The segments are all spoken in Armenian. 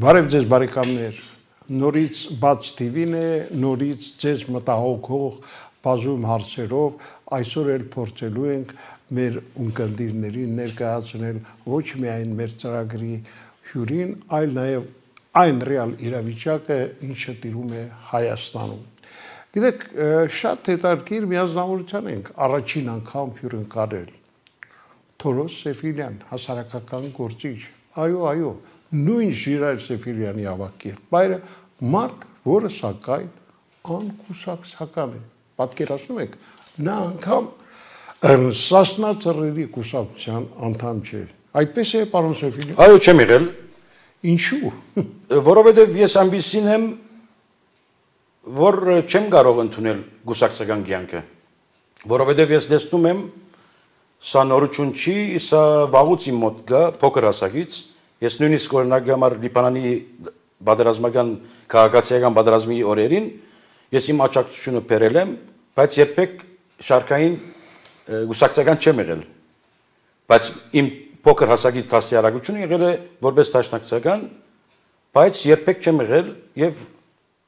Բարև ձեզ բարեկամներ, նորից բաց TV-ն է, նորից ձեզ մտահոգող բազում հարցերով, այսօր էլ փորձելու ենք մեր ունկնդիրներին ներկայացնել ոչ միայն մեր ծրագրի հյուրին, այլ նաև այն ռեալ իրավիճակը, ինչը տիրում է Հայաստանում։ Գիտեք, շատ հետաքրքիր միանձնավորության ենք առաջին անգամ հյուրընկալել Թորոս Սեֆիլյան, հասարակական գործիչ, այո, նույն Ժիրայր Սեֆիլյանի ավագ եղբայրը, մարդ, որը սակայն անկուսակցական է, պատկերացնում եք, նա անգամ Սասնա ծռերի կուսակցության անդամ չէ, այդպես է պարոն Սեֆիլյան։ Այո, չեմ եղել։ Ինչու։ Որովհետև ես այնպիսին եմ, որ չեմ կարող ընդունել կուսակցական կյանքը, որովհետև ես տեսնում եմ, սա նորություն չի, սա վաղուց իմ մոտ գա, փոքր հասակից, ես նույնիսկ օրինակ համար Լիբանանի պատերազմական քաղաքացիական պատերազմի օրերին ես իմ աջակցությունը բերել եմ, բայց երբեք շարքային կուսակցական չեմ եղել, բայց իմ փոքր հասակից դաստիարակությունը եղել է որպես դաշնակցական, բայց երբեք չեմ եղել եւ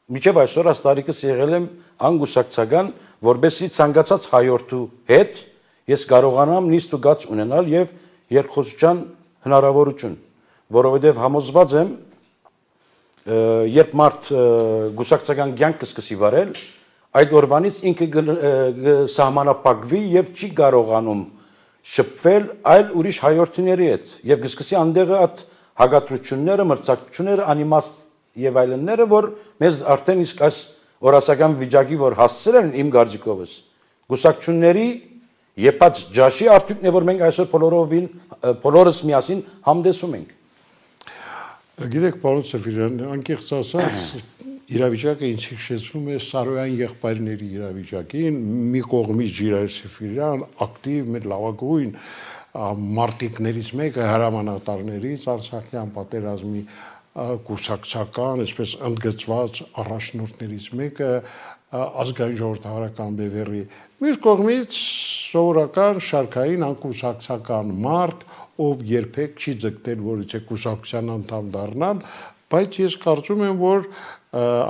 մինչեւ այսօր աստարիկս եղել եմ անգուսակցական, որբեսի ցանկացած հայորդու հետ ես կարողանամ նիստ ու գաց ունենալ եւ երկխոսության հնարավորություն, որովհետեւ համոզված եմ, երբ մարդ գուսակցական կյանք կսկսի վարել, այդ օրվանից ինքը սահմանափակվի եւ չի կարողանում շփվել այլ ուրիշ հայորդիների հետ եւ կսկսի անդեղը այդ հագատրությունները, մրցակցությունները, անիմաստ եւ այլնները, որ մեզ արդեն իսկ այս օրասական վիճակի որ հասցրել են իմ գարձիկովս գուսակցությունների եփած ջաշի արդյունքն է, որ մենք այսօր բոլորս միասին համդեսում ենք։ Գիտեք, պարոն Սեֆիլյան, անկեղծ ասած, իրավիճակը ինձ հիշեցնում է Սարոյան եղբայրների իրավիճակին, մի կողմից Ժիրայր Սեֆիլյան, ակտիվ, մեր լավագույն մարտիկներից մեկը, հրամանատարներից, Արցախյան պատերազմի կուսակցական, այսպես ընդգծված առաջնորդներից մեկը, ազգային ժողովրդավարական բևեռի, մյուս կողմից սովորական շարքային անկուսակցական մարդ, ով երբեք չի ձգտել որից է կուսակցության անդամ դառնալ, բայց ես կարծում եմ, որ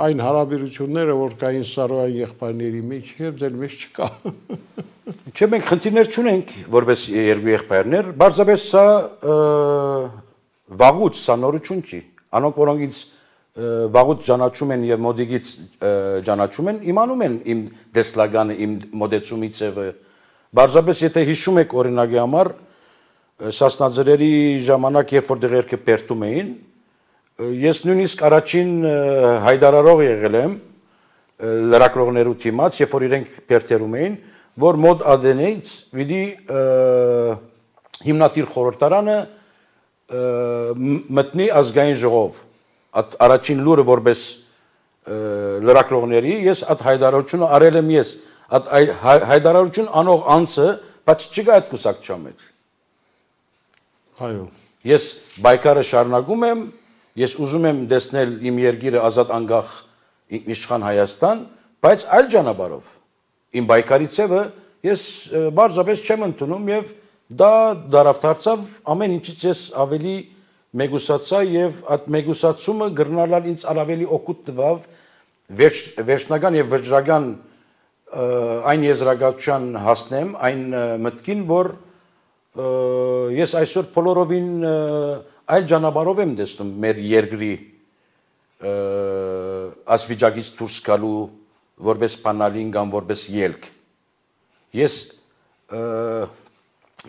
այն հարաբերությունները, որ կային Սարոյան եղբայրների մեջ, եւ ձեր մեջ չկա։ Չէ, մենք խնդիրներ չունենք, որպես երկու եղբայրներ, բարձրապես սա վաղուց սա նորություն չի։ Անոնք, որոնք ինձ վաղուց ճանաչում են եւ մոդիկից ճանաչում են, իմանում են իմ դեսլագանը, իմ մոդեցումի ձևը։ Բարձրապես եթե հիշում եք օրինակի համար, Սասնաձրերի ժամանակ, երբ որ դեղերքը պերտում էին, ես նույնիսկ առաջին հայտարարող եղել եմ լրագրողներու թիմաց, երբ որ իրենք պերտերում էին, որ մոդ ադենեից պիտի հիմնադիր խորհրդարանը մտնի ազգային ժողով, առաջին լուրը որպես լրագրողների, ես այդ հայտարարությունը արել եմ ես, այդ հայտարարություն անող անձը, բայց չկա այդ կուսակցության մեջ։ Այո։ Ես բայկարը շարունակում եմ, ես ուզում եմ տեսնել իմ երկիրը ազատ անկախ ինքնիշխան Հայաստան, բայց այլ ճանապարհով։ Իմ բայկարի ցևը ես բարձրապես չեմ ընդունում եւ դա դարավթարցավ ամեն ինչից ես ավելի մեգուսացա եւ այդ մեգուսացումը գրնալալ ինձ ավելի օգուտ տվավ վերջնական եւ վճռական այն եզրակացության հասնեմ այն մտքին, որ ես այսօր բոլորովին այլ ճանապարհով եմ տեսնում մեր երկրի ասվիճակից դուրս գալու որպես բանալին կամ որպես ելք։ Ես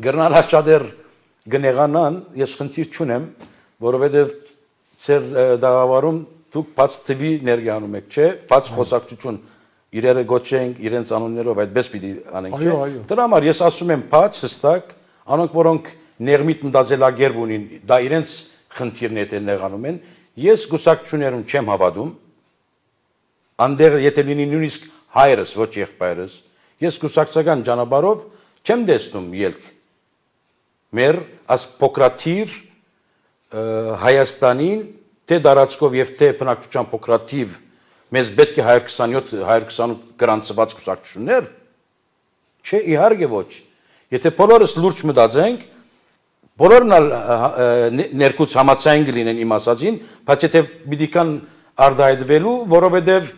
գրնալ հաշադեր գնեղանան, ես խնդիր չունեմ, որովհետև ծեր դաղավարում դուք բաց TV ներկայանում եք, չէ, բաց խոսակցություն իրերը գոչենք իրենց անուններով այդպես պիտի անենք, չէ։ Դրա համար ես ասում եմ բաց հստակ, անոնք որոնք ներմիտ մտածելակերպ ունին, դա իրենց խնդիրն է նեղանում են, ես գուսակցություններում չեմ հավատում, անդեղ եթե լինի նույնիսկ հայրս, ոչ եղբայրս, ես գուսակցական ճանապարհով չեմ տեսնում ելք։ Մեր աս փոքրաթիվ Հայաստանին թե դարածքով եւ թե բնակչության փոքրաթիվ մեզ պետք է 127-128 գրանցված գուսակցություններ, չէ, իհարկե ոչ։ Եթե բոլորս լուրջ մտածենք, բոլորն ներկուց համացային կլինեն իմ ասածին, բայց եթե պիտի կան արդայդվելու, որովհետև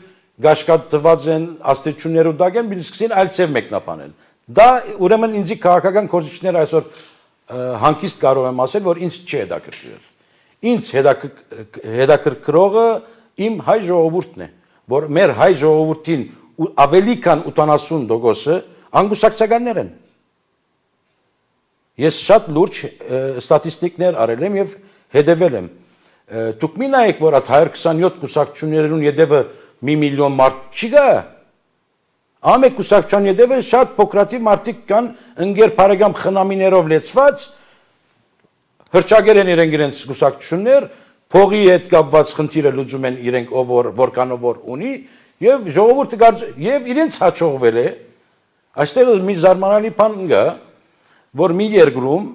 գաշկատված են աստիճուններ ու դագեն, պիտի սկսին այլ ծև մեկնաբանել։ Դա ուրեմն ինձի քաղաքական գործիչները այսօր հանկիստ կարող եմ ասել, որ ինձ չի հետաքրքրել։ Ինձ հետաքրքրողը իմ հայ ժողովուրդն է, որ մեր հայ ժողովրդին ավելի քան 80% անգուսակցականներ են։ Ես շատ լուրջ ստատիստիկներ արել եմ եւ հետևել եմ։ Դուք մի նայեք, որ այդ 127 կուսակցություններուն յետևը 1 միլիոն մարդ չի գա։ Ամեն կուսակցության յետևը շատ փոքրատիվ մարդիկ կան, ընկեր բարեկամ խնամիներով լեցված, հրճագեր են իրենց կուսակցություններ, փողի հետ կապված խնդիրը լուծում են իրենք ով որքանով որ ունի եւ ժողովուրդը եւ իրենց հաջողվել է։ Այստեղ մի զարմանալի բան կա, որ մի երկրում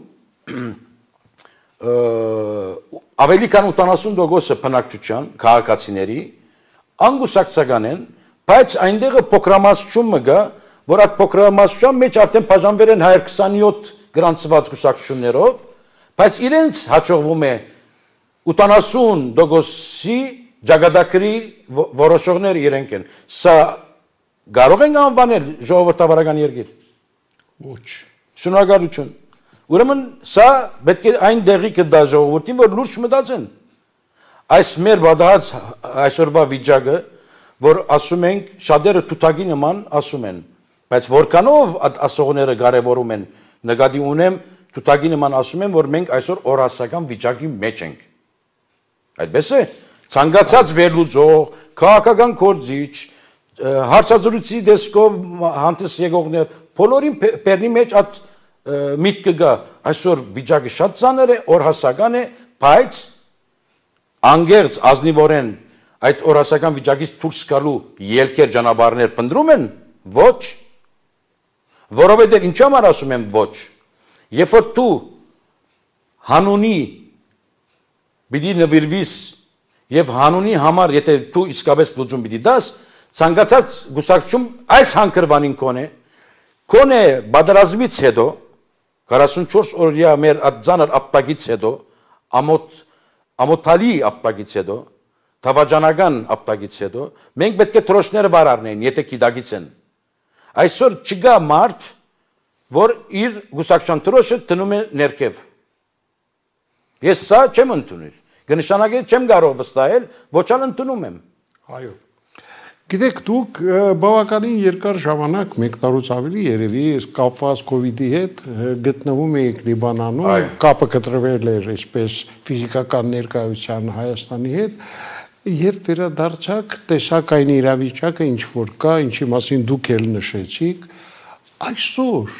ավելի քան 80% բնակչության քաղաքացիների անգուսակցական են, բայց այնտեղը փոքրամասնություն կա, որ այդ փոքրամասնության մեջ արդեն բաժանվել են 127 գրանցված կուսակցություններով, բայց իրենց հաջողվում է 80%-ի ճակատագրի որոշողները իրենք են։ Սա կարող ենք անվանել ժողովրդավարական երկիր։ Ոչ։ Շնորհակալություն։ Ուրեմն սա պետք է այն դեղի կտա ժողովրդին, որ լուրջ մտածեն։ Այս մեր բադահած այսօրվա վիճակը, որ ասում ենք շատերը թութակի նման ասում են, բայց որքանով ասողները կարևորում են, նկատի ունեմ թութակի նման ասում են, որ մենք այսօր օրասական վիճակի մեջ ենք։ Այդպես է, ցանկացած վերլուծող, քաղաքական գործիչ, հարցազրույցի դեսկով հանդես եկողներ, բոլորին բեռնի մեջ այդ միտքը գա, այսօր վիճակը շատ ծանր է, օրհասական է, բայց անգերց ազնիվորեն այդ օրհասական վիճակից դուրս գալու ելքեր ճանապարհներ փնտրում են, ոչ, որովհետև ինչ համար ասում եմ ոչ, երբ որ դու հանունի պիտի նվիրվիս եւ հանունի համար, եթե դու իսկապես լուծում պիտի դաս, ցանկացած գուսակցություն այս հանգրվանին կոնե բادرազմից հետո 44 օրյա մեր ածանր ապտակից հետո ամոթալի ապտակից հետո թավաջանական ապտակից հետո մենք պետք է թրոշները վար առնեն, եթե գիտակից են։ Այսօր չկա մարդ, որ իր գուսակցության թրոշը տնում է ներքև։ Ես սա չեմ ընդունել։ Կնշանակի չեմ կարող վստահել, ոչ ալ ընդունում եմ։ Այո։ Գիտեք, դուք բավականին երկար ժամանակ, մեկ տարուց ավելի երևի, կապված COVID-ի հետ գտնվում էիք Լիբանանում, կապը կտրվել էր այսպես ֆիզիկական ներկայության Հայաստանի հետ, երբ վերադարձաք, տեսաք այն իրավիճակը, ինչ որ կա, ինչի մասին դուք էլ նշեցիք, այսօր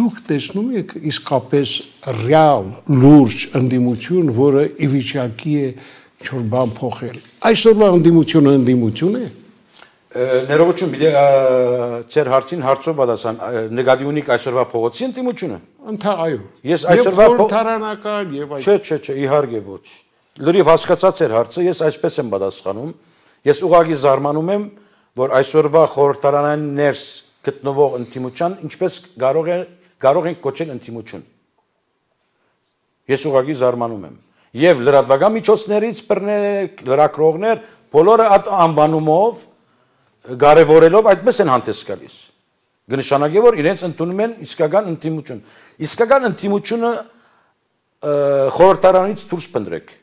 դուք տեսնում եք իսկապես ռեալ, լուրջ ընդդիմություն, որը ի վիճակի է ինչ-որ բան փոխել։ Այսօրվա ընդդիմությունը ընդդիմություն է։ Ներողություն, մի ծեր հարցին հարցով պատասխան, նկատի ունիք այսօրվա փողոցի ընդդիմությունը։ Այո։ Ես այսօրվա խորհրդարանական եւ այլ։ Չէ, իհարկե ոչ։ Լրիվ հասկացած էր հարցը, ես այսպես եմ պատասխանում։ Ես ուղղակի զարմանում եմ, որ այսօրվա խորհրդարանային ներս գտնվող ընդդիմության ինչպես կարող ենք կոչել ընդդիմություն։ Ես ուղղակի զարմանում եմ։ Եվ լրատվական միջոցներից բռնեք, լրագրողներ, բոլորը այդ անվանումով կարևորելով այդպես են հանդես գալիս։ Կնշանակի, որ իրենց ընդունում են իսկական ընդդիմություն։ Իսկական ընդդիմությունը խորհրդարանից դուրս փնտրեք։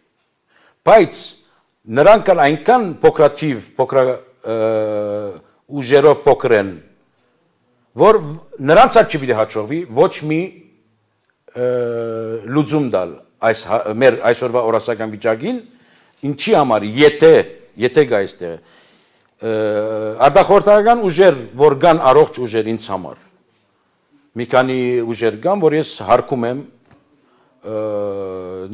Բայց նրանք այնքան փոքր ուժերով փոքր են, որ նրանց այդ չպիտի հաջողվի ոչ մի լուծում տալ այս մեր այսօրվա օրասական վիճակին, ինչի համար, եթե գա այստեղ արտախորհրդական ուժեր, որ կան առողջ ուժեր ինձ համար, մի քանի ուժեր կան, որ ես հարգում եմ,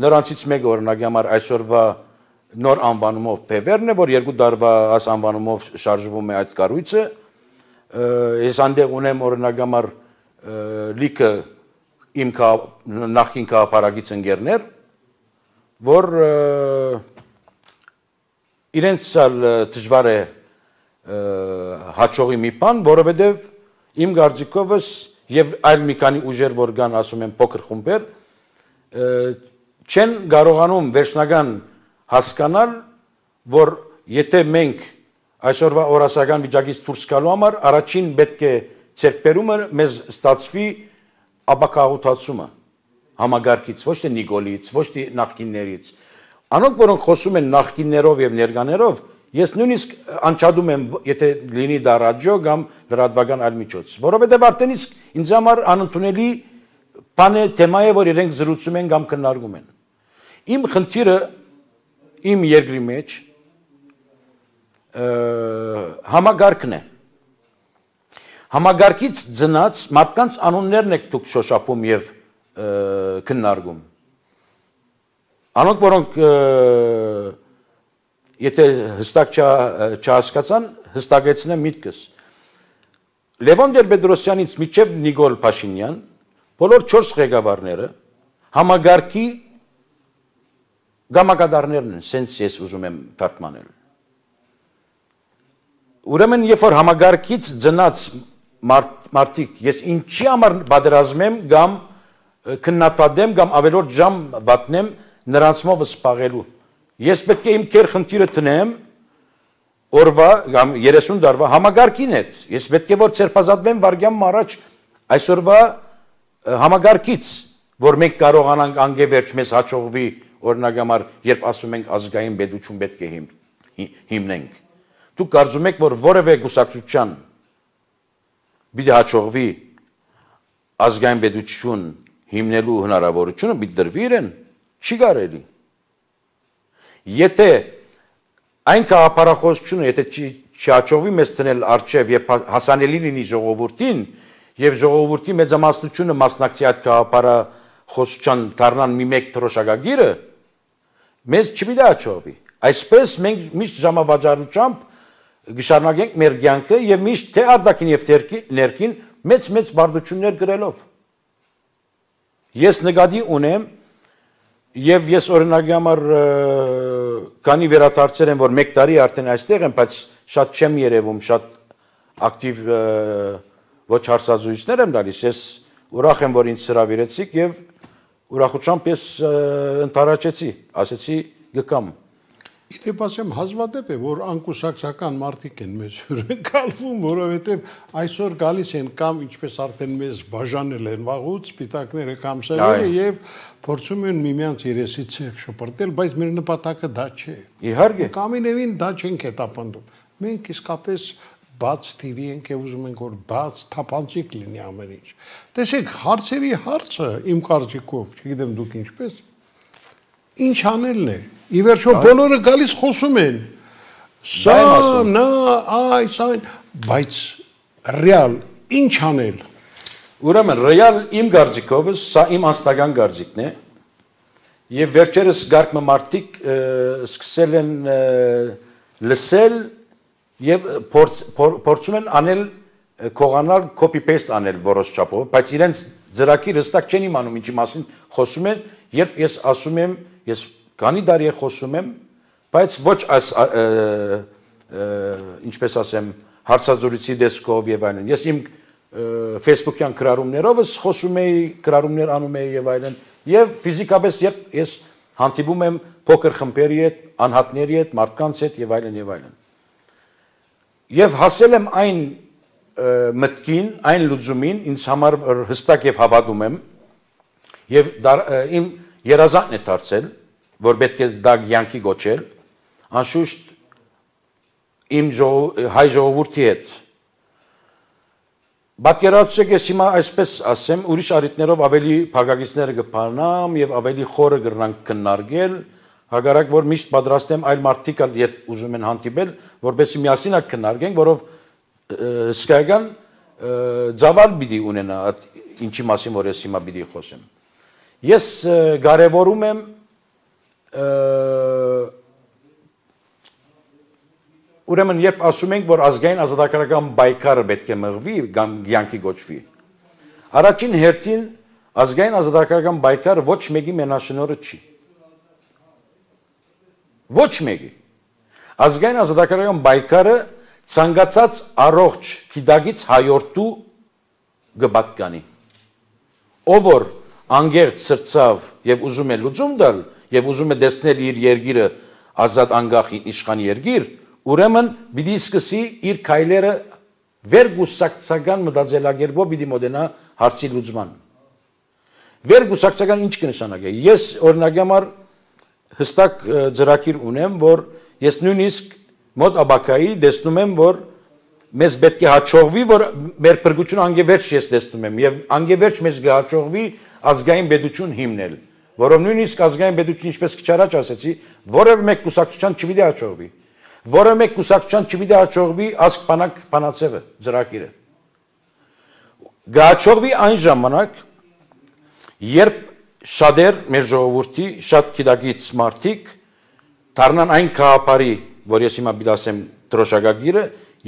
նրանցից մեկը օրինակի համար այսօրվա նոր անվանումով Փևերն է, որ 2 տարվա այս անվանումով շարժվում է այդ կառույցը, ես այնտեղ ունեմ օրինակի համար լիքը իմ նախկին քաղաքապարագից ընկերներ, որ իրենց դժվար է հաջողի մի բան, որովհետև իմ կարծիքովս եւ այլ մի քանի ուժեր որ կան, ասում են փոքր խումբեր, չեն կարողանում վերջնական հասկանալ, որ եթե մենք այսօրվա օրասական վիճակից դուրս գալու համար առաջին պետք է ցերկբերումը մեզ ստացվի ապակաղութացումը համագարկից, ոչ թե Նիկոլից, ոչ թե նախկիններից։ Անոնք, որոնք խոսում են նախկիններով եւ ներկաներով, ես նույնիսկ անջատում եմ, եթե լինի դա ռադիո կամ լրատվական այլ միջոց, որովհետեւ արդեն իսկ ինձ համար անընդունելի բան է, թեմա է, որ իրենք զրուցում են կամ քննարկում են։ Իմ խնդիրը իմ երկրի մեջ համագարկն է։ Համագարկից ծնած մարդկանց անուններն եք դուք շոշափում եւ քննարկում։ Անոնք, որոնք եթե հստակ չհասկացան, հստակեցնեմ միտքս։ Լևոն Տեր-Պետրոսյանից մինչև Նիկոլ Փաշինյան, բոլոր 4 ղեկավարները համագարկի գամակատարներն են, սենց ես ուզում եմ թարգմանել։ Ուրեմն, երբ որ համագարկից ծնած մարդիկ, ես ինչի համար պատերազմեմ կամ քննադատեմ կամ ավելորդ ժամ վատնեմ նրանցմով սպաղելու։ Ես պետք է իմ քեր խնդիրը տնեմ օրվա կամ 30 տարվա համագարկին հետ։ Ես պետք է որ ցերպազատվեմ վարգյամ առաջ այսօրվա համագարկից, որ մենք կարողանանք անգևերջ մեզ հաջողվի օրինակ համար, երբ ասում ենք ազգային պետություն պետք է հիմնենք։ Դուք կարծում եք, որ որևէ կուսակցության պիտի հաջողվի ազգային պետություն հիմնելու հնարավորությունը պիտի դրվի իրեն, չի կարելի։ Եթե այն գաղափարախոսությունը, եթե չհաջողվի մեզ տնել առջև եւ հասանելի լինի ժողովրդին, եւ ժողովրդի մեծամասնությունը մասնակցի այդ գաղափարախոսության դառնան մի մեկ թրոշակագիրը, մեզ չպիտի հաջողվի։ Այսպես մենք միշտ ժամավաճառությամբ գշարունակենք մեր կյանքը եւ միշտ թե արտաքին եւ ներքին մեծ բարդություններ գրելով։ Ես նկատի ունեմ եւ ես օրինակի համար քանի վերադարձել եմ, որ 1 տարի արդեն այստեղ եմ, բայց շատ չեմ երևում, շատ ակտիվ ոչ հարցազրույցներ եմ տալիս, ես ուրախ եմ, որ ինձ հրավիրեցիք եւ ուրախությամբ ես ընդառաջեցի, ասեցի գկամ։ Իդեպ ասեմ, հազվադեպ է, որ անկուսակցական մարդիկ են մեզ հյուրընկալվում, որովհետև այսօր գալիս են կամ ինչպես արդեն մեզ բաժանել են վաղուց, սպիտակները կամ սևերը եւ փորձում են միմյանց երեսի ցեղ շպրտել, բայց մեր նպատակը դա չէ։ Իհարկե։ Կամինևին դա չենք հետապնդում։ Մենք իսկապես բաց TV ենք եւ ուզում ենք որ բաց թափանցիկ լինի ամեն ինչ։ Տեսեք, հարցերի հարցը իմ կարծիքով, չգիտեմ դուք ինչպես, ինչ անելն է։ Ի վերջո բոլորը գալիս խոսում են։ Սա, նա, այս, այն, բայց ռեալ ինչ անել։ Ուրեմն ռեալ իմ կարծիքով, սա իմ անձնական կարծիքն է, եւ վերջերս գարկմը մարդիկ սկսել են լսել եւ փորձում են անել կողանալ copy-paste անել որոշ չափով, բայց իրենց ծրագիրը հստակ չեն իմանում ինչի մասին խոսում են, երբ ես ասում եմ, ես քանի տարի խոսում եմ, բայց ոչ այս ինչպես ասեմ, հարցազրույցի դեսկով եւ այլն։ Ես իմ Facebook-յան գրառումներովս խոսում եի, գրառումներ անում եի եւ այլն, եւ ֆիզիկապես երբ ես հանդիպում եմ փոքր խմբերի հետ, անհատների հետ, մարդկանց հետ եւ այլն եւ այլն։ Եվ հասել եմ այն մտքին, այն լուծումին, ինձ համար հստակ եւ հավատում եմ, եւ իմ երազանքն է դարձել, որ պետք է դա կյանքի գոչել, անշուշտ իմ հայ ժողովրդի հետ։ Պատկերացրեք, ես հիմա այսպես ասեմ, ուրիշ առիթներով ավելի փակագիծները կփանամ եւ ավելի խորը կգրանք քննարկել, հակառակ որ միշտ պատրաստ եմ այլ մարդիկ երբ ուզում են հանդիպել, որպեսզի միասին քննարկենք, որով հսկայական ծավալ պիտի ունենա ինչի մասին որ ես հիմա պիտի խոսեմ։ Ես կարևորում եմ ուրեմն երբ ասում ենք որ ազգային ազատագրական պայքարը պետք է մղվի կամ կյանքի գոչվի, առաջին հերթին ազգային ազատագրական պայքարը ոչ մեկի մենաշնորհը չի։ Ոչ մեկի։ Ազգային ազատագրական պայքարը ցանկացած առողջ գիտակից հայորդու գբատկանի։ Ով որ անգերտ սրծավ եւ ուզում է լուծում տալ եւ ուզում է դեսնել իր երկիրը ազատ անկախ իշխան երկիր, ուրեմն պիտի սկսի իր քայլերը վերգուսակցական մտածելակերպով պիտի մոտենա հարցի լուծման։ Վերգուսակցական ինչ կնշանակի։ Ես օրինակի համար հստակ ծրագիր ունեմ, որ ես նույնիսկ մոտ աբակայի տեսնում եմ, որ մեզ պետք է հաջողվի, որ մեր փրկությունը անգևերջ ես տեսնում եմ եւ անգևերջ մեզ կհաջողվի ազգային պետություն հիմնել, որով նույնիսկ ազգային պետություն ինչպես քիչ առաջ ասեցի, որևէ մեկ կուսակցության չպիտի հաջողվի, որևէ մեկ կուսակցության չպիտի հաջողվի ազգ բանակ բանացևը ծրագիրը։ Կհաջողվի այն ժամանակ, երբ շատեր մեր ժողովրդի շատ գիտակից մարդիկ դառնան այն քաղաքարի, որ ես հիմա պիտի ասեմ դրոշակագիրը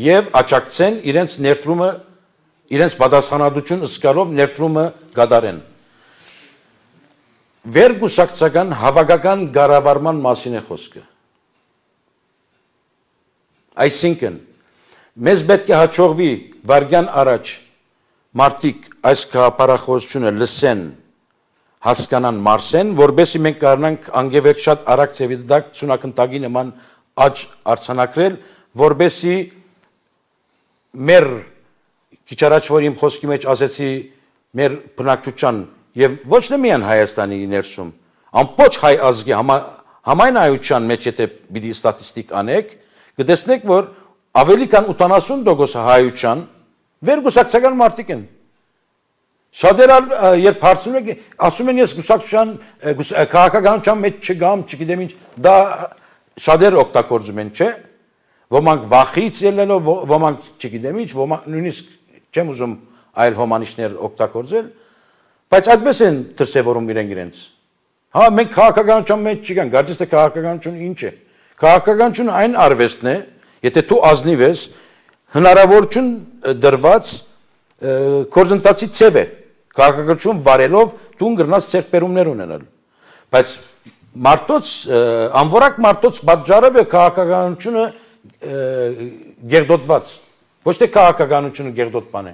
եւ աճակցեն իրենց ներդրումը, իրենց պատասխանատվություն ըսկալով ներդրումը կատարեն։ Վերգուսակցական հավաքական կառավարման մասին է խոսքը։ Այսինքն, մեզ պետք է հաջողվի վարգյան առաջ մարդիկ այս քաղաքապարախոսությունը լսեն, հասկանան, մարսեն, որբեսի մենք կարողանանք անգևերջ շատ արագ ծևի դակ ցունակնդագի նման աճ արձանագրել, որբեսի մեր քիչ առաջ որ իմ խոսքի մեջ ասեցի մեր բնակչության եւ ոչ թե միայն Հայաստանի ներսում, ամբողջ հայ ազգի համայն հայության մեջ եթե պիտի ստատիստիկ անեք, կտեսնեք, որ ավելի քան 80% հայության վերգուսակցական մարդիկ են։ Շատերը երբ հարցնում եք, ասում են ես գուսակցության քաղաքականության մեջ չգամ, չգիտեմ ինչ, դա շատերը օգտագործում են, չէ՞։ Ոմանք վախից ելնելով, ոմանք չգիտեմ ինչ, ոմանք նույնիսկ չեմ ուզում այլ հոմանիշներ օգտագործել, բայց այդպես են դրսևորում իրենց։ Հա, մենք քաղաքականության մեջ չգանք, կարծես թե քաղաքականությունը ինչ է։ Քաղաքականությունը այն արվեստն է, եթե դու ազնիվ ես, հնարավորություն դրված գործընթացի ցև է։ Քաղաքականություն վարելով դու կգնաս ցերպերումներ ունենալ։ Բայց մարդոց անորակ մարդոց պատճառը է քաղաքականությունը գերդոտված։ Ոչ թե քաղաքականությունը գերդոտ բան է։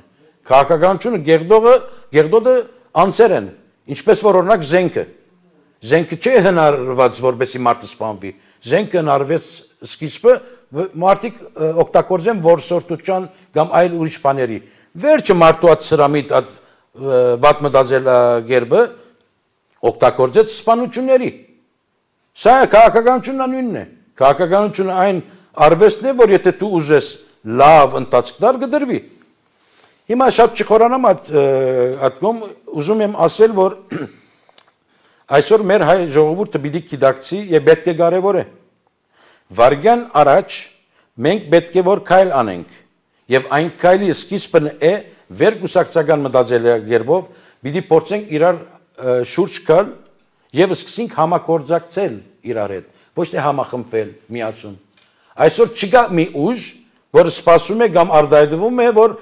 Քաղաքականությունը գերդոտը անձեր են, ինչպես որ օրինակ զենքը։ Զենքը չէ հնարված որպեսի մարդը սպանվի։ Զենքը հնարվեց սկիզբը մարդիկ օգտագործեն որսորդության կամ այլ ուրիշ բաների։ Վերջը մարդու այդ սրամիտ այդ վատ մտածելակերպը օգտագործեց սպանությունների։ Սա քաղաքականությունն նույնն է։ Քաղաքականությունը այն արվեստն է, որ եթե դու ուզես լավ ընթացքներ կդրվի։ Հիմա շատ չխորանամ այդ կողմ ուզում եմ ասել, որ այսօր մեր հայ ժողովուրդը պիտի գիտակցի եւ պետք է կարեւոր է։ Վարգյան առաջ մենք պետք է որ քայլ անենք եւ այն քայլի սկիզբն է վերգուսակցական մտածելակերպով պիտի փորձենք իրար շուրջ գալ եւ սկսենք համագործակցել իրար հետ, ոչ թե համախմբվել, միացում։ Այսօր չկա մի ուժ, որ սպասում է կամ արդայդվում է, որ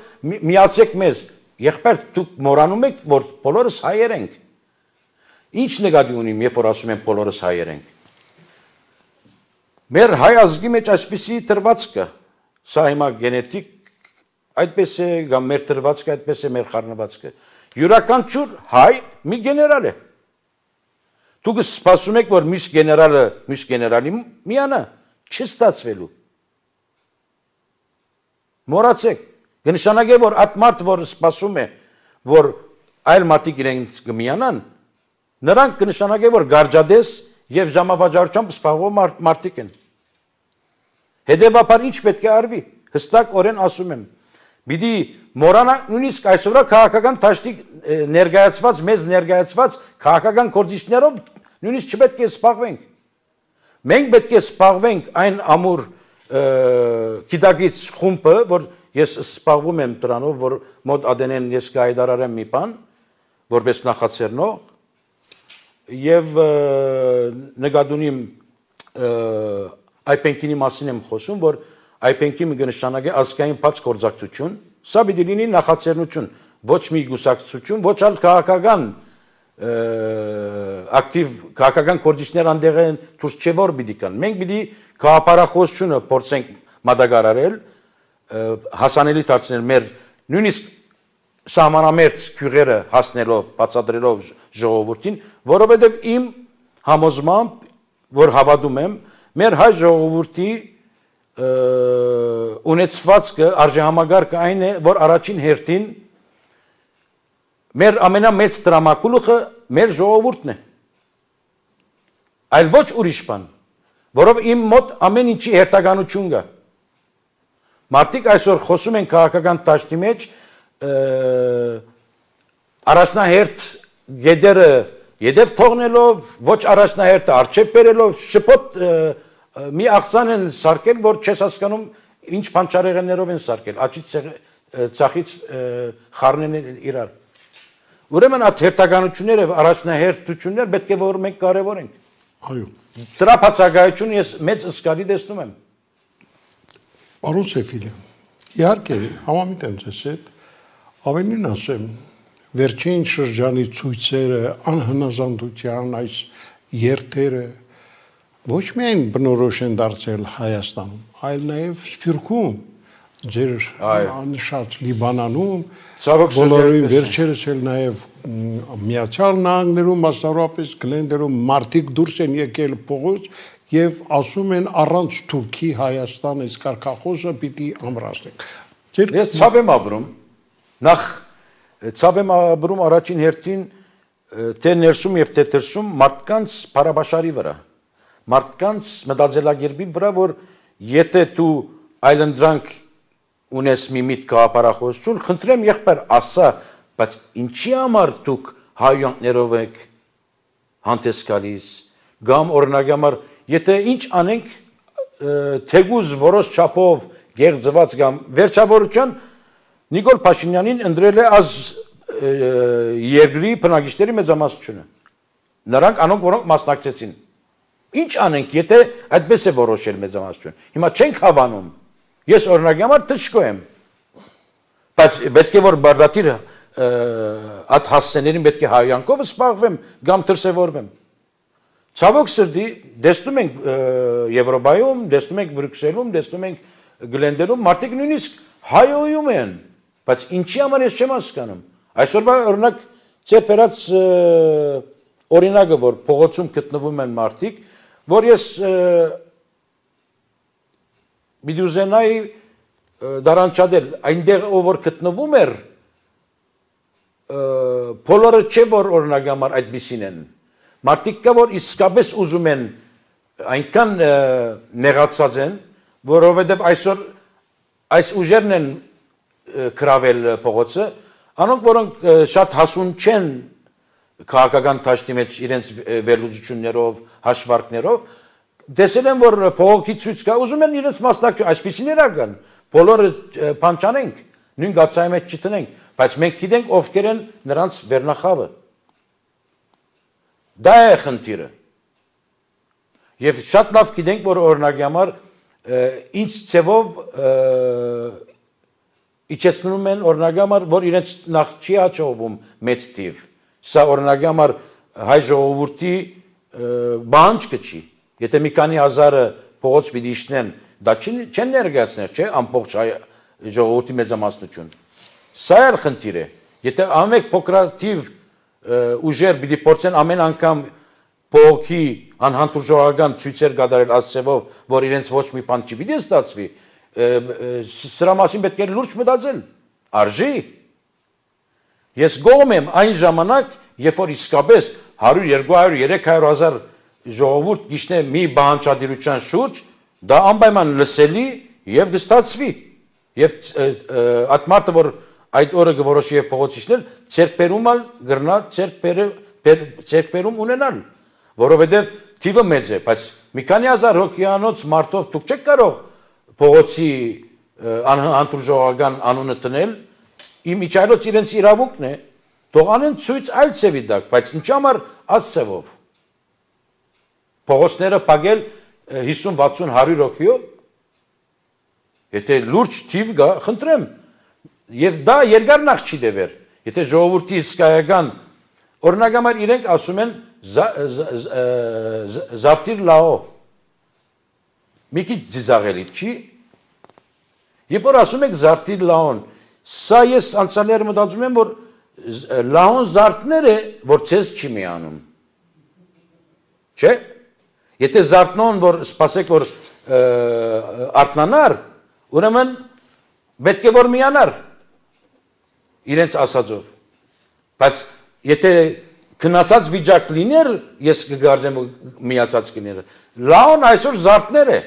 միացեք մեզ։ Եղբայր դուք մոռանում եք, որ բոլորս հայեր ենք։ Ինչ նկատի ունիմ, երբ որ ասում եմ բոլորս հայեր ենք։ Մեր հայ ազգի մեջ այսպիսի դրված կա, սա հիմա գենետիկ այդպես է, կամ մեր դրվածքը այդպես է, մեր խառնվածքը։ Յուրաքանչյուր հայ մի գեներալ է։ Դուք սպասում եք, որ մյուս գեներալը մյուս գեներալի միանա, չստացվելու։ Մոռացեք, կնշանակե, որ այդ մարդ, որ սպասում է, որ այլ մարդիկ իրենց կմիանան, նրանք կնշանակե, որ գարջադես եւ ժամավաճառությամբ սպասող մարդիկ են։ Հետևաբար ինչ պետք է արվի, հստակ օրեն ասում եմ։ Պիտի մոռանանք նույնիսկ այսօրվա քաղաքական դաշտի ներկայացված, մեզ ներկայացված քաղաքական գործիչներով նույնիսկ չպետք է սպառվենք։ Մենք պետք է սպառվենք այն ամուր գիտակից խումբը, որ ես սպառվում եմ դրանով, որ մոտ ադենեն ես կհայտարարեմ մի բան, որպես նախաձեռնող, եւ նկատունիմ այպենքինի մասին եմ խոսում, որ այպենքի կնշանակե ազգային բաց գործակցություն, սա պիտի լինի նախաձեռնություն, ոչ մի գուսակցություն, ոչ այլ քաղաքական ակտիվ քաղաքական գործիչներ անդեղ են դուրս չէ որ պիտի կան։ Մենք պիտի քաղաքապարախոսությունը փորձենք մատակարարել, հասանելի դարձնել մեր նույնիսկ սահմանամերձ քյուղերը հասնելով, բացատրելով ժողովրդին, որովհետև իմ համոզմամբ, որ հավատում եմ, մեր հայ ժողովրդի ունեցվածքը, արժեհամագարկը այն է, որ առաջին հերթին մեր ամենամեծ տրամակուլուխը մեր ժողովուրդն է։ Այլ ոչ ուրիշ բան, որով իմ մոտ ամեն ինչի հերթականություն կա։ Մարդիկ այսօր խոսում են քաղաքական դաշտի մեջ առաջնահերթ գեդերը յետև թողնելով, ոչ առաջնահերթը առջև բերելով, շփոթ մի աղսան են սարքել, որ չես հասկանում ինչ փանչարեղեններով են սարքել, աչից ցախից խառնեն իրար։ Ուրեմն այդ հերթականությունները, առաջնահերթությունները պետք է որ մենք կարևորենք։ Այո։ Դրա բացակայությունը ես մեծ զգալի տեսնում եմ։ Պարոն Սեֆիլյան, իհարկե համամիտ եմ ձեզ հետ, ավելին ասեմ, վերջին շրջանի ցույցերը, անհնազանդության այս երթերը ոչ միայն բնորոշ են դարձել Հայաստանում, այլ նաև Սփյուռքում, ձեր անշատ Լիբանանում, բոլորին վերջերս էլ նաև Միացյալ Նահանգներում, մասնավորապես Գլենդերում մարդիկ դուրս են եկել փողոց եւ ասում են առանց Թուրքի Հայաստան այս կարգախոսը պիտի ամրացնենք։ Ես ցավ եմ ապրում, նախ ցավ եմ ապրում առաջին հերթին թե ներսում եւ թե դրսում մարդկանց բարաբաշարի վրա, մարդկանց մտածելակերպի վրա, որ եթե դու այլընտրանք ունես մի միտք գաղափարախոսություն, խնդրեմ եղբայր ասա, բայց ինչի համար դուք հայյանքներով եք հանդես գալիս, կամ օրինակ համար, եթե ինչ անենք թեգուզ որոշ չափով գեղձված կամ վերջավորության Նիկոլ Փաշինյանին ընտրել է az երկրի բնակիչների մեծամասնությունը։ Նրանք անոնք որոնք մասնակցեցին։ Ինչ անենք, եթե այդպես է որոշել մեծամասնություն։ Հիմա չենք հավանում։ Ես օրինակ համար թշկո եմ։ Բայց պետք է որ բարդատիրը այդ հասցեներին պետք է հայյանքով սպառվեմ կամ դրսևորվեմ։ Ցավոք սրտի տեսնում ենք Եվրոպայում, տեսնում ենք Բրյուսելում, տեսնում ենք Գլենդերում մարդիկ նույնիսկ հայոյում են, բայց ինչի համար ես չեմ հասկանում։ Այսօրվա օրինակ ծեր բերած օրինակը, որ փողոցում գտնվում են մարդիկ, որ ես Միդուզենայի դարանչադել այնտեղ ով որ գտնվում էր բոլորը չէ որ օրինակ համար այդպիսին են մարդիկ կա որ իսկապես ուզում են այնքան նեղացած են որովհետև այսօր այս ուժերն են կրավել փողոցը անոնք որոնք շատ հասուն չեն քաղաքական դաշտի մեջ իրենց վերլուծություններով հաշվարկներով Տեսել են, որ փողոքի ցույց կա, ուզում են իրենց մասնակցություն, այսպիսիներ արգան, բոլորը փանչանենք, նույն գացայի մեջ չտնենք, բայց մենք գիտենք ովքեր են նրանց վերնախավը։ Դա է խնդիրը։ Եվ շատ լավ գիտենք, որ օրինակի համար ինչ ցևով իջեցնում են օրինակի համար, որ իրենց նախ չի հաջողվում մեծ թիվ։ Սա օրինակի համար հայ ժողովրդի բանջկը չի։ Եթե մի քանի հազարը փողոց պիտի իջնեն, դա չեն ներկայացնել, չէ՞, ամբողջ ժողովրդի մեծամասնություն։ Սա էլ խնդիր է։ Եթե ամեն փոքրաթիվ ուժեր պիտի փորձեն ամեն անգամ փողոքի անհանդուրժողական ցույցեր կատարել ասцевով, որ իրենց ոչ մի բան չի պիտի ստացվի, սրա մասին պետք է լուրջ մտածել։ Արժի։ Ես գոհ եմ այն ժամանակ, երբ որ իսկապես 100, 200, 300 հազար ժողովուրդ գիշնե մի բանջարդիրության շուրջ, դա անպայման լսելի եւ կստացվի։ Եվ այդ մարդը, որ այդ օրը կորոշի եւ փողոցիչնել, ցերկբերումալ գրնա ցերկբերում ունենալ, որովհետեւ թիվը մեծ է, բայց մի քանի հազար հոգյանոց մարդով դուք չեք կարող փողոցի անհանդուրժողական անունը տնել, իմ իջայլոց իրենց իրավունքն է, թող անեն ցույց այլ ցևի դակ, բայց ինչ համար ասцевով փողոցները պագել 50-60 100 հոգիով եթե լուրջ թիվ գա խնդրեմ եւ դա երկարնախ չի դեվեր եթե ժողովրդի իսկայական օրինակ համար իրենք ասում են զարտիր լաո մի քիչ ծիզաղելի չի երբ որ ասում եք զարտիր լաոն Սա ես անցյալները մտածում եմ, որ լահուն զարդները, որ ցես չի միանում։ Չէ՞։ Եթե զարդնոն, որ սպասեք, որ արտնանար, ուրեմն պետք է որ միանար իրենց ասածով։ Բայց եթե քնացած վիճակ լիներ, ես կգարձեմ միացած կներ։ Լահուն այսօր զարդներ է,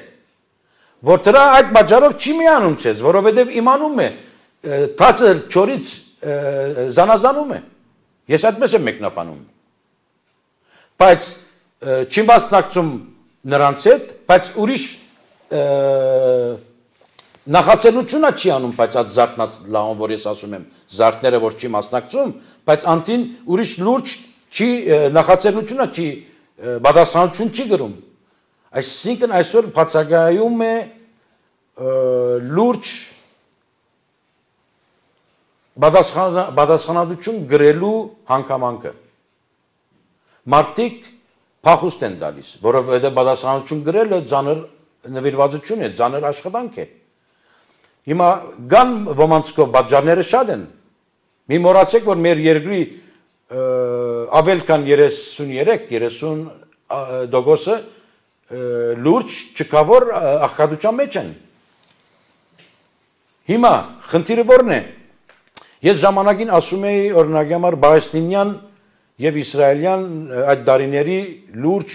որ դրա այդ բաժարով չի միանում ցես, որովհետև իմանում է թացը չորից զանազանում է։ Ես այդպես եմ մեկնաբանում։ Բայց չի մասնակցում նրանց հետ, բայց ուրիշ նախաձեռնությունը չի անում, բայց այդ զարդնած լահուն, որ ես ասում եմ, զարդները, որ չի մասնակցում, բայց անտին ուրիշ լուրջ չի նախաձեռնությունը չի պատասխանատվություն չի գրում։ Այսինքն այսօր բացակայում է լուրջ պատասխանատվություն գրելու հանգամանքը։ Մարդիկ փախուստ են տալիս, որովհետև պատասխանատվություն գրելը ծանր նվիրվածություն է, ծանր աշխատանք է։ Հիմա կան ոմանցքով պատճառները շատ են։ Մի մոռացեք, որ մեր երկրի ավել քան 33-30% լուրջ չկավոր աղքատության մեջ են։ Հիմա խնդիրը ո՞րն է։ Ես ժամանակին ասում էի օրինակի համար պաղեստինյան եւ իսրայելյան այդ դարիների լուրջ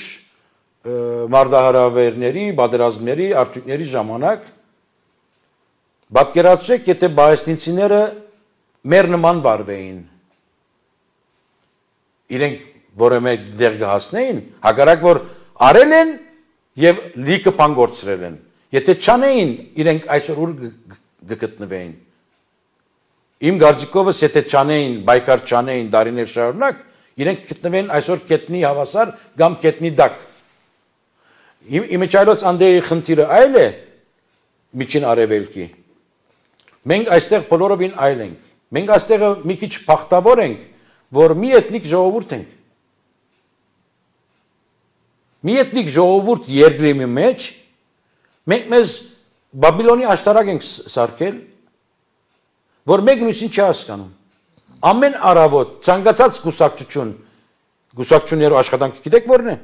մարդահրավերների, պատերազմների, արդյունքների ժամանակ պատկերացրեք, եթե պաղեստինցիները մեր նման վարվեին, իրենք որևէ դեր կհասնեին, հակառակ որ արել են եւ լիքը բան գործրել են։ Եթե չանեին, իրենք այսօր ուր կգտնվեին։ Իմ գարձիկովս եթե չանեին, բայկար չանեին դարիներ շարունակ, իրենք գտնվեն այսօր կետնի հավասար կամ կետնի դակ։ Իմիջայլոց անդեի խնդիրը այլ է միջին արևելքի։ Մենք այստեղ բոլորովին այլ ենք։ Մենք այստեղ մի քիչ փախտավոր ենք, որ մի էթնիկ ժողովուրդ ենք։ Մի էթնիկ ժողովուրդ երկրի մեջ մենք մեզ Բաբիլոնի աշտարակ ենք սարքել, որ մեկ մյուսին չի հասկանում։ Ամեն առավոտ ցանկացած գուսակցություններով աշխատանքը գիտեք որն է։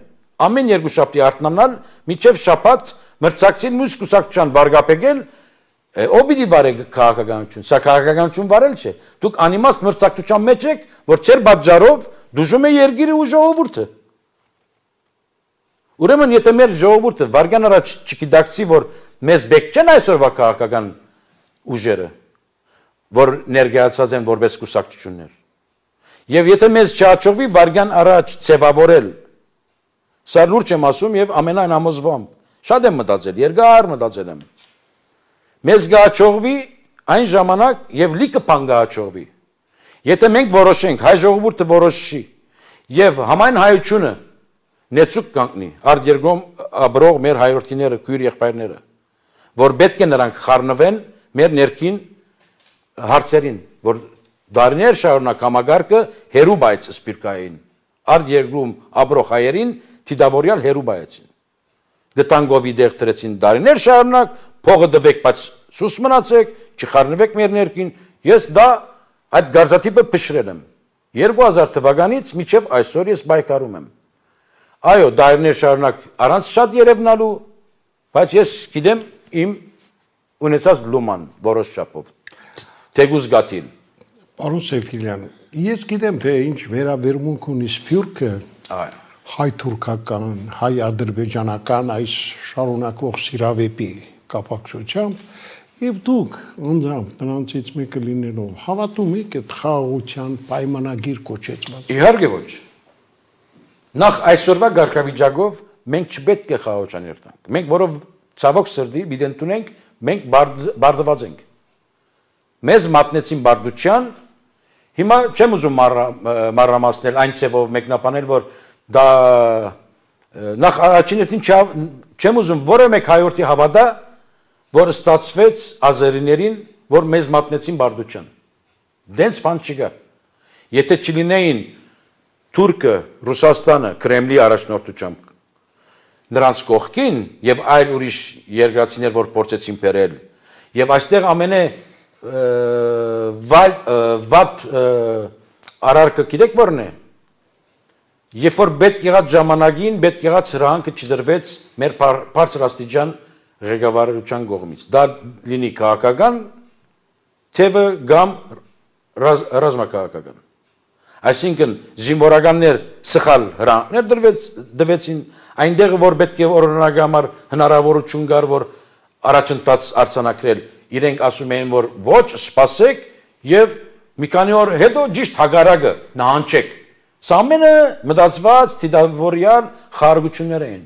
Ամեն երկուշաբթի արթնանալ, մինչև շաբաթ մրցակցին մյուս գուսակցության վարգապեկել, ով պիտի վարե քաղաքականություն, սա քաղաքականություն վարել չէ։ Դուք անիմաստ մրցակցության մեջ եք, որ չեր պատճառով դժում է երկիրը ու ժողովուրդը։ Ուրեմն եթե մեր ժողովուրդը վարգան առաջ չգիտակցի, որ մեզ բեք չեն այսօրվա քաղաքական ուժերը, որ ներկայացած են որպես կուսակցություններ։ Եվ եթե մեզ չհաջողվի վարգան առաջ ձևավորել, սա լուրջ եմ ասում եւ ամենայն համոզվամ, շատ եմ մտածել, երկար մտածել եմ։ Մեզ կհաջողվի այն ժամանակ եւ լիքը բան կհաջողվի։ Եթե մենք որոշենք, հայ ժողովուրդը որոշի եւ համայն հայությունը նեցուկ կանգնի, արդ երկրում ապրող մեր հայրենիները, քույր եղբայրները, որ պետք է նրանք խառնվեն մեր ներքին հարցերին, որ դարիներ շարունակ համագարկը հերու բայց սպիրկային, արդ երկրում ապրող հայերին թիդավորյալ հերու բայեցին։ Գտանգովի դեղ տրեցին դարիներ շարունակ, փողը դվեք, բայց սուս մնացեք, չխառնվեք մեր ներքին, ես դա այդ գարձատիպը փշրել եմ։ 2000 թվականից մինչև այսօր ես բայկարում եմ։ Այո, դարիներ շարունակ առանց շատ երևնալու, բայց ես գիտեմ իմ ունեցած լուման որոշ չափով։ Թեգուզ գաթիլ։ Պարոն Սեֆիլյան, ես գիտեմ, թե ինչ վերաբերմունք ունի Սփյուռքը հայ-թուրքական, հայ-ադրբեջանական այս շարունակվող սիրավեպի կապակցությամբ, եւ դուք անձամբ նրանցից մեկը լինելով հավատում եք այդ խաղաղության պայմանագիր կոչեցված։ Իհարկե ոչ։ Նախ այսօրվա ղարքավիճակով մենք չպետք է խաղաղության երթանք։ Մենք որով ցավոք սրտի պիտի ընդունենք, մենք բարդված ենք։ Մեզ մատնեցին բարդության, հիմա չեմ ուզում մանրամասնել այն ցևով մեկնաբանել, որ դա նախ առաջինին չեմ ուզում որը մեկ հայորդի հավատա, որ ստացվեց ազերիներին, որ մեզ մատնեցին բարդության։ Դենց բան չկա։ Եթե չլինեին Թուրքը, Ռուսաստանը, Կրեմլի առաջնորդությամբ նրանց կողքին եւ այլ ուրիշ երկրացիներ, որ փորձեցին բերել, եւ այստեղ ամենը վատ արարքը գիտեք որն է։ Երբ որ պետք եղած ժամանակին, պետք եղած հրահանգը չդրվեց մեր բարձրաստիճան ղեկավարության կողմից։ Դա լինի քաղաքական թևը կամ ռազմաքաղաքական։ Այսինքն զինվորականներ սխալ հրահանգներ դրվեցին այնտեղ որ պետք է օրինակ համար հնարավորություն կար որ առաջընթաց արձանագրել իրենք ասում էին որ ոչ սպասեք եւ մի քանի օր հետո ճիշտ հագարակը նահանջեք սա ամենը մտածված դիտավորյալ խաղաղություններ էին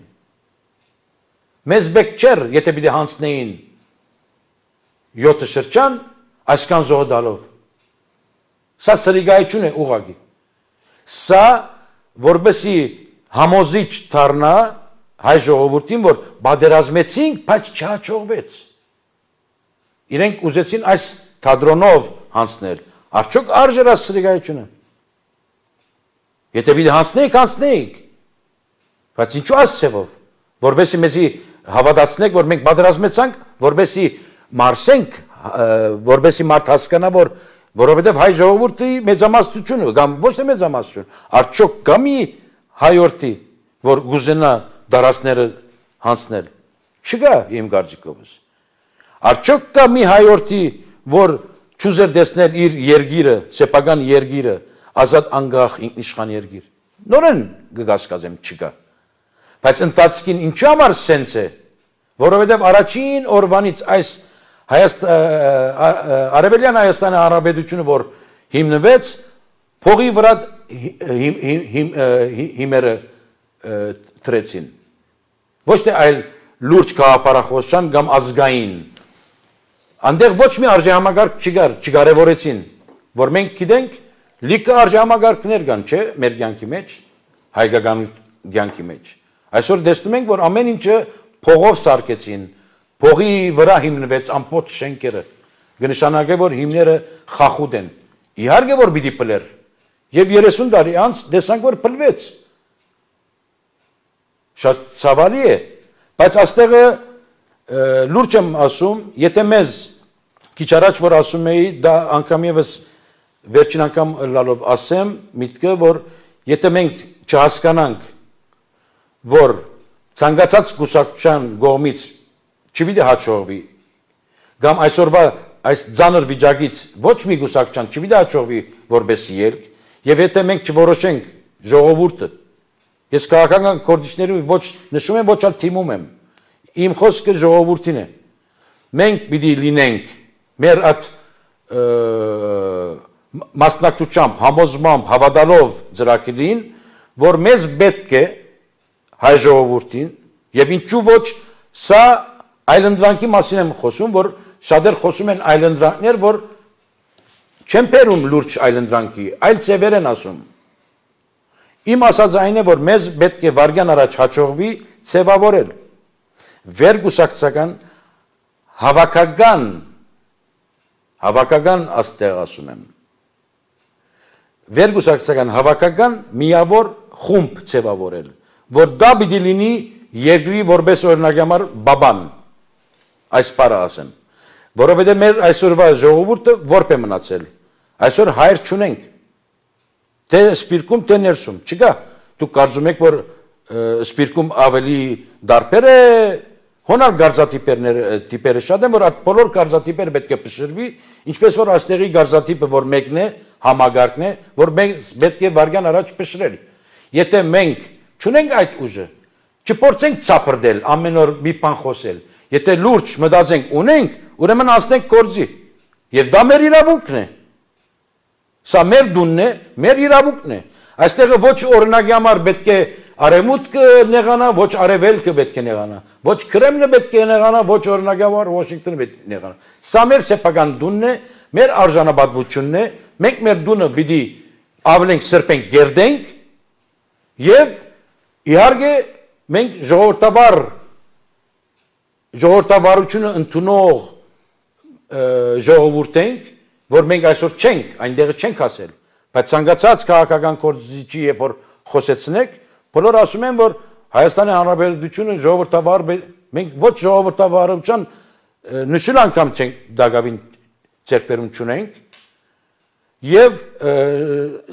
մեզ բեք չեր եթե պիտի հանցնեին 7 շրջան այսքան զոհդալով սա սրիգայություն է ուղղակի սա որբեսի համոզիչ դառնա հայ ժողովրդին որ բادرազմեցինք բայց չհաջողվեց իրենք ուզեցին այս թադրոնով հանցնել արդյոք արժեր այս սրիգայությունը եթե պիտի հանցնեիք բայց ինչու այս ծևով որբեսի մեզի հավատացնեք որ մենք բادرազմեցանք որբեսի մարսենք որբեսի մարդ հասկանա որ որովհետև հայ ժողովրդի մեծամասնությունը կամ ոչ թե մեծամասնություն արդյոք կա մի հայորդի որ գուզենա դարասները հանցնել չկա իմ կարծիքովս արդյոք կա մի հայորդի որ չուզեր տեսնել իր երգիրը սեփական երգիրը ազատ անկախ ինքնիշխան երգիր նորեն կգասկածեմ չկա բայց ընթացքին ինչի համար սենց է որովհետև առաջին օրվանից այս Արևելյան Հայաստանի Հանրապետությունը որ հիմնվեց փողի վրա հիմերը տրեցին ոչ թե այլ լուրջ գաղափարախոսության կամ ազգային այնտեղ ոչ մի արժեհամակարգ չկարևորեցին որ մենք գիտենք լիքը արժեհամակարգներ կան չէ մեր կյանքի մեջ հայկական կյանքի մեջ այսօր տեսնում ենք որ ամեն ինչը փողով սարքեցին փողի վրա հիմնվեց ամբողջ շենքերը կնշանակե որ հիմները խախուտ են իհարկե որ պիտի փլեր եւ 30 տարի անց տեսանք որ փլվեց շատ ցավալի է բայց աստեղը լուրջ եմ ասում եթե մեզ քիչ առաջ որ ասում էի դա անգամ եւս վերջին անգամ լալով ասեմ միտքը որ եթե մենք չհասկանանք որ ցանկացած կուսակցության կողմից չպիտի հաջողվի կամ այսօրվա այս ցաներ վիճակից ոչ մի կուսակցության չպիտի հաջողվի որպես ելք եւ եթե մենք չորոշենք ժողովուրդը ես քաղաքական կոորդինատորի ոչ նշում եմ ոչ այլ թիմում եմ իմ խոսքը ժողովրդին է մենք պիտի լինենք մեր այդ մասնակցությամբ համոզմամբ հավատալով ծրագրին որ մեզ պետք է հայ ժողովրդին եւ ինչու ոչ սա այլընտրանքի մասին եմ խոսում որ շատեր խոսում են այլընտրանքներ որ չեն բերում լուրջ այլընտրանքի այլ ծևեր են ասում իմ ասած այն է որ մեզ պետք է վարգյան առաջ հաջողվի ծևավորել վերգուսակցական հավաքական աստեղ ասում եմ վերգուսակցական հավաքական միավոր խումբ ծևավորել որ դա պիտի լինի երկրի որպես օրինակ համար բաբան այս բառը ասեմ որովհետև մեր այսօրվա ժողովուրդը որպես է մնացել այսօր հայր չունենք թե սպիրկում թե ներսում չկա դուք կարծում եք որ սպիրկում ավելի դարբեր է հոնալ գարզատիպերը շատ են որ այդ բոլոր գարզատիպերը պետք է փշրվի ինչպես որ այստեղի գարզատիպը որ մեկն է համագարկն է որ մենք պետք է վարգյան առաջ փշրել եթե մենք չունենք այդ ուժը չփորձենք ցապրդել ամեն օր մի բան խոսել եթե լուրջ մտածենք ունենք ուրեմն ասենք գործի եւ դա մեր իրավունքն է սա մեր դունն է մեր իրավունքն է այստեղը ոչ օրինակի համար պետք է արևմուտքը նեղանա ոչ արևելքը պետք է նեղանա ոչ կրեմլը պետք է նեղանա ոչ օրինակի համար Վաշինգտոնը պետք է նեղանա սա մեր սեփական դունն է մեր արժանապատվությունն է մենք մեր դունը պիտի ավելենք սրբենք գերդենք եւ իհարկե մենք ժողովրդավարությունը ընդունող ժողովուրդ ենք որ մենք այսօր չենք այնտեղը չենք ասել բայց ցանկացած քաղաքական կորզիչի երբ որ խոսեցնեք բոլոր ասում են որ Հայաստանի Հանրապետությունը ժողովրդավար մենք ոչ ժողովրդավարության նշել անգամ չենք դակավին ձեռքբերում չունենք եւ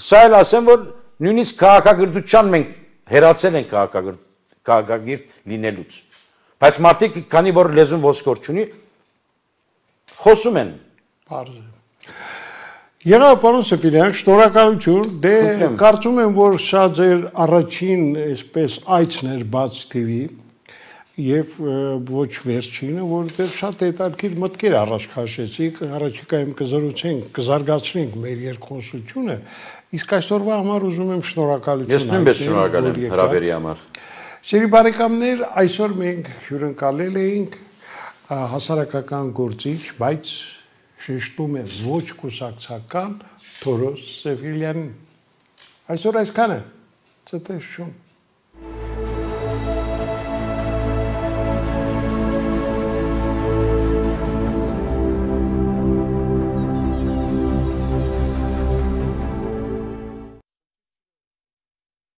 սա էլ ասեմ որ նույնիսկ քաղաքագրության մենք հերացել ենք քաղաքագիր լինելուց բայց մարդիկ քանի որ լեզուն ոսկոր չունի խոսում են Պարզ է Եղավ պարոն Սեֆիրյան, շնորհակալություն, դե կարծում եմ, որ սա ձեր առաջին այսպես այցն էր Բաց TV եւ ոչ վերջինը, որտեղ շատ հետաքրքիր մտքեր առաջ քաշեցիք, առաջիկայում կզրուցենք, կզարգացնենք մեր երկխոսությունը, իսկ այսօրվա համար ուզում եմ շնորհակալություն Ես նույնպես շնորհակալ եմ հրավերի համար։ Սիրելի բարեկամներ, այսօր մենք հյուրընկալել էինք հասարակական գործիչ, բայց շեշտում է ոչ կուսակցական Թորոս Սեֆիրյանին։ Այսօր այսքանը, ցտեսություն։